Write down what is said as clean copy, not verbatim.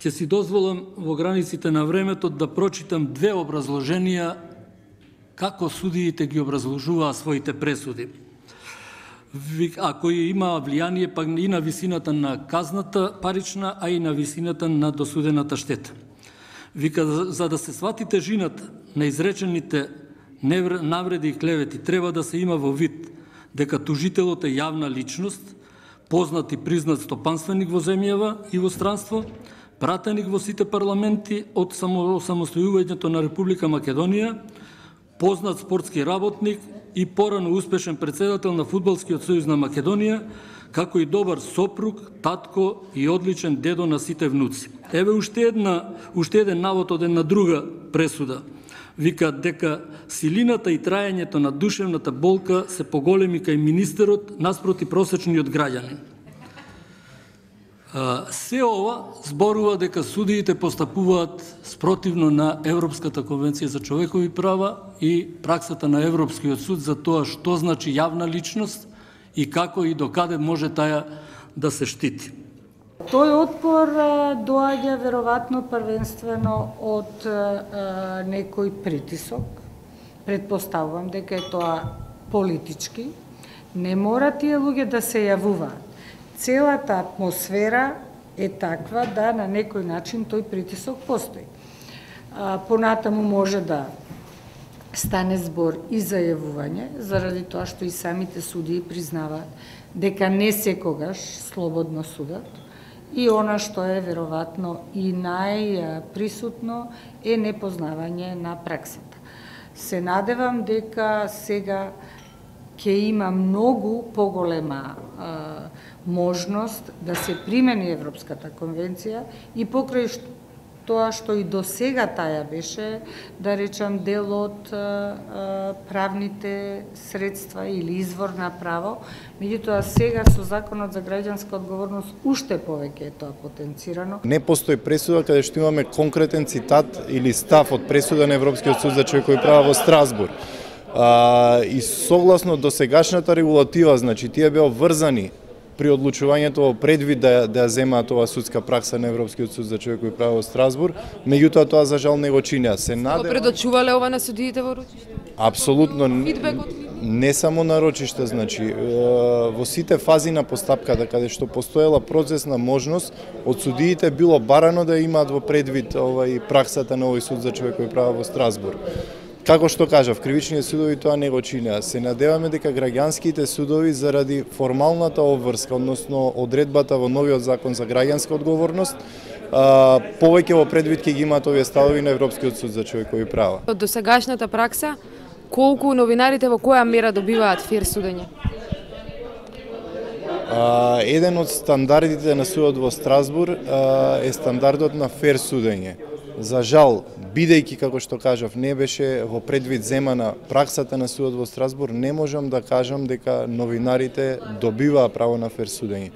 Ќе си дозволам во границите на времето да прочитам две образложенија како судиите ги образложуваа своите пресуди. А кои имаа влијание пак и на висината на казната парична, а и на висината на досудената штета. Вика, за да се свати тежината на изречените навреди и клевети, треба да се има во вид дека тужителот е јавна личност, познат и признат стопанственик во земјава и во странство, пратеник во сите парламенти од самостојувањето на Република Македонија, познат спортски работник и порано успешен председател на Фудбалскиот сојуз на Македонија, како и добар сопруг, татко и одличен дедо на сите внуци. Еве уште еден навод од една друга пресуда. Вика дека силината и трајањето на душевната болка се поголеми кај министерот наспроти просечниот граѓанин. Се ова зборува дека судиите постапуваат спротивно на Европската конвенција за човекови права и праксата на Европскиот суд за тоа што значи јавна личност и како и докаде може таја да се штити. Тој отпор доаѓа веројатно првенствено од некој притисок. Предпоставувам дека е тоа политички. Не мора тие луѓе да се јавуваат. Целата атмосфера е таква да на некој начин тој притисок постои. Понатаму може да стане збор и за јавување, заради тоа што и самите судии признаваат дека не секогаш слободно судат. И она што е веројатно и најприсутно е непознавање на праксата. Се надевам дека сега ќе има многу поголема можност да се примени Европската конвенција и покрај тоа што и до сега таја беше, да речам, дел од правните средства или извор на право, меѓутоа сега со Законот за граѓанска одговорност уште повеќе е тоа потенцирано. Не постои пресуда каде што имаме конкретен цитат или став од пресуда на Европскиот суд за човекови права во Страсбург. И согласно досегашната регулатива, значи тие беа врзани при одлучувањето предвид да земаат ова судска пракса на Европскиот суд за човекови права во Страсбург, меѓутоа тоа за жал не го чинеа. Се надевам. Предочувале ова на судиите во рочиште? Апсолутно. Фидбек од не само на рочиште, значи во сите фази на постапката каде што постоела процесна можност од судиите било барано да имаат во предвид праксата на овој суд за човекови права во Страсбург. Како што кажав, кривичните судови тоа не го чинеа. Се надеваме дека граѓанските судови заради формалната обврска, односно одредбата во новиот закон за граѓанска одговорност, повеќе во предвид ќе ги имаат овие ставови на Европскиот суд за човекови права. Од досегашната пракса, колку новинарите во која мера добиваат фер судење? Еден од стандардите на судот во Страсбург е стандардот на фер судење. За жал, бидејќи, како што кажав, не беше во предвид земана праксата на судот во Страсбург, не можам да кажам дека новинарите добиваа право на фер судење.